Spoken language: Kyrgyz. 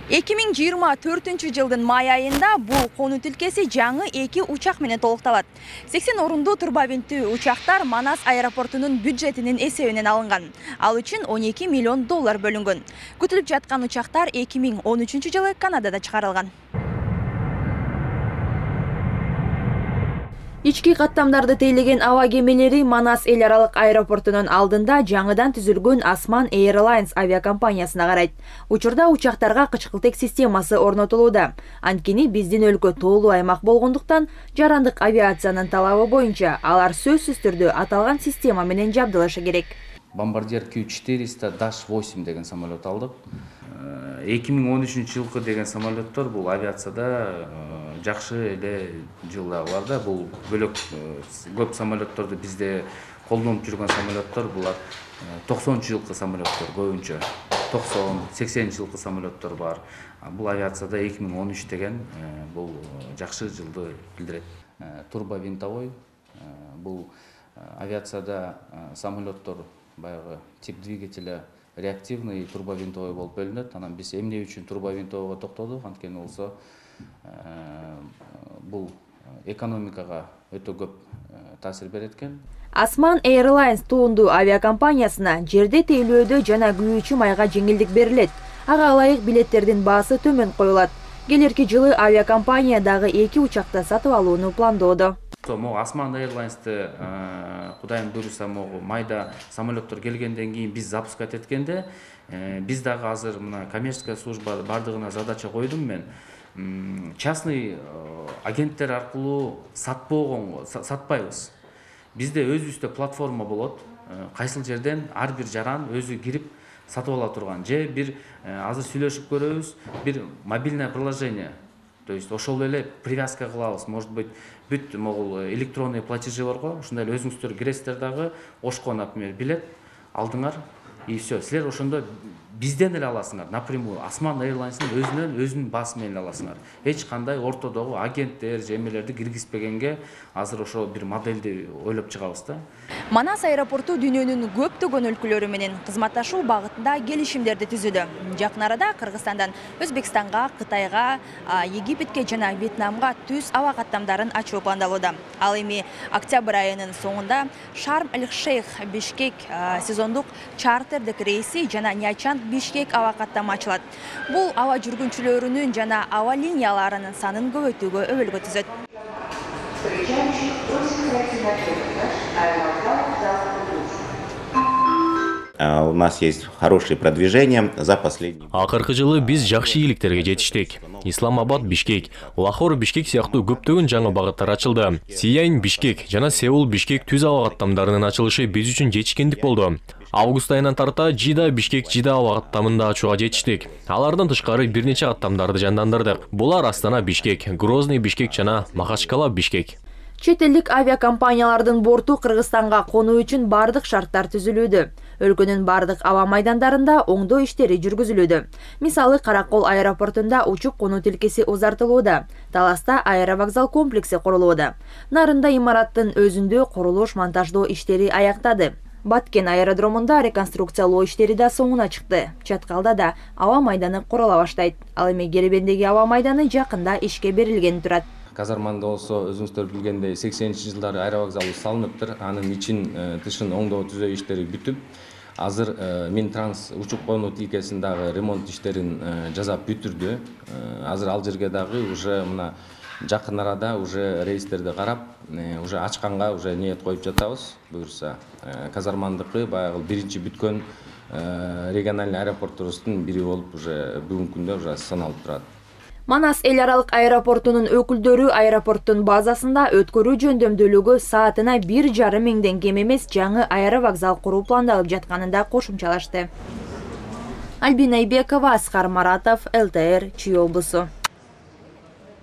2024-жылдын май айында бул конуу тилкеси жаңы 2 учак менен толукталат. 80 орундуу турбовинттүү учактар Манас аэропортунун бюджетинин эсебинен алынган. Ал үчүн $12 миллион бөлүнгөн. Күтүлүп жаткан учактар 2013-жылы Канадада чыгарылган. Ички каттамдарды тейлеген аба кемелери Манас эл аралык аэропортунун алдында жаңыдан түзүлгөн Asman Airlines авиакомпаниясына карайт. Учурда учактарга кычкылтек системасы орнотулууда. Анткени биздин өлкө тоолуу аймак болгондуктан жарандык авиациянын талабы боюнча алар сөзсүз түрдө аталган система менен жабдылышы керек. Bombardier Q400-8 деген самолет алдык. 2013-жылкы деген самолеттор бул авиацияда жакшы эле жылдагыларда, бул бөлөк көп самолетторду бизде колдонуп жүргөн самолеттор булар 90-жылкы самолеттор көбүнчө. 90-80 жылкы самолеттор бар. Бул авиацияда 2013 деген бул жакшы жылды билдирет. Турбовинтовой бул авиацияда самолеттор баягы тип двигателя реактивный турбовинтовой болуп бөлүнөт. Анан биз эмне үчүн турбовинтовойго токтодук? Анткени болсо бул экономикага өтө көп таасир берет экен. Asman Airlines туунду авиакомпаниясына жерде тейлөөдө жана күйүүчү майга жеңилдик берилет. Ага ылайык билеттердин баасы төмөн коюлат. Келерки жылы авиакомпания дагы 2 учакты сатып алууну пландоодо. Могу Asman Airlines'ты Кудайым буйруса могу майда самолеттор келгенден кийин биз запускать эткенде биз дагы азыр мына коммерческая служба бардыгына задача койдум мен. Частный агенттер аркылуу сатпайбыз. Бизде өзүбүздө платформа болот. Кайсыл жерден ар бир жаран өзү кирип сатып ала турган. Же бир азыр сүйлөшүп көрөбүз, бир мобильное приложение. То есть ошол эле привязка кылабыз. Может быть, бүт могул электронный платежи барго, ушундай эле өзүңүздөр киресиздер дагы, ошко, например, билет алдыңар и все. Силер ошондо бизден эле аласыңар. Напрямую Asman Airlines'ын өзүнүн баасы менен аласыңар. Эч кандай ортодогу агенттер, жемелерди киргизбегенге азыр ошо бир модельди ойлоп чыгабыз да. Манас аэропорту дүйнөнүн көптөгөн өлкөлөрү менен кызматташуу багытында келишимдерди түзүүдө. Жакын арада Кыргызстандан Өзбекстанга, Кытайга, Египетке жана Вьетнамга түз аба каттамдарын ачуу пландалууда. Ал эми октябрь айынын соңунда Шарм-эль-Шейх Бишкек сезондук чартердик рейси жана Нячан Бишкек аба каттама ачылат. Бул аба жүргүнчүлөрүнүн жана аба линияларынын санын көбөйтүүгө өбөлгө түзөт. У нас есть хорошее продвижение за последние. Акыркы жылы биз жакшы ийгиликтерге жетиштик. Исламабад, Бишкек, Лахор, Бишкек сыяктуу көптөгөн жаңы багыттар ачылды. Сияйын, Бишкек жана Сеул, Бишкек түз аба каттамдарынын ачылышы биз үчүн жетишкендик болду. Август айынан тарта Жида, Бишкек, Жида аба каттамында ачууга жетиштик. Алардан тышкары бир нече каттамдарды жандандырдык. Булар Астана, Бишкек, Грозный, Бишкек жана Махачкала, Бишкек. Чет элдик авиакомпаниялардын борту Кыргызстанга конуу үчүн бардык шарттар түзүлүүдө. Өлкөнүн бардык аба майдандарында оңдоо иштери жүргүзүлүүдө. Мисалы, Каракол аэропортунда учуп конуу тилкеси узартылууда. Таласта аэровокзал комплекси курулууда. Нарында имараттын өзүндө курулуш монтаждоо иштери аяктады. Баткен аэродромунда реконструкциялоо иштери да соңуна чыкты. Чаткалда да аба майданы курала баштайт. Ал эми Керебендеги аба майданы жакында ишке берилгени турат. Казарманда болсо өзүңүздөр билгендей 80-жылдары аэровокзалы салыныптыр. Анын ичин тышын оңдоо түзөө иштери бүтүп, азыр Минтранс учуп конуу тилкесин дагы ремонт иштерин жасап бүтүрдү. Азыр ал жерге дагы уже мына жакын арада уже рейстерди карап, уже ачканга уже ниет коюп жатабыз. Буюрса, казармандыкы баягы биринчи бүткөн региональный аэропортубуздун бири болуп уже бүгүнкү күндө уже саналып турат. Манас эл аралык аэропортунун өкүлдөрү аэропорттун базасында өткөрүү жөндөмдүүлүгү саатына 1,5 миңден кем эмес жаңы аэровокзал куруу пландалып жатканын да кошумчалашты. Альбина Айбекова, Аскар Маратов, ЛТР, Чүй облусу.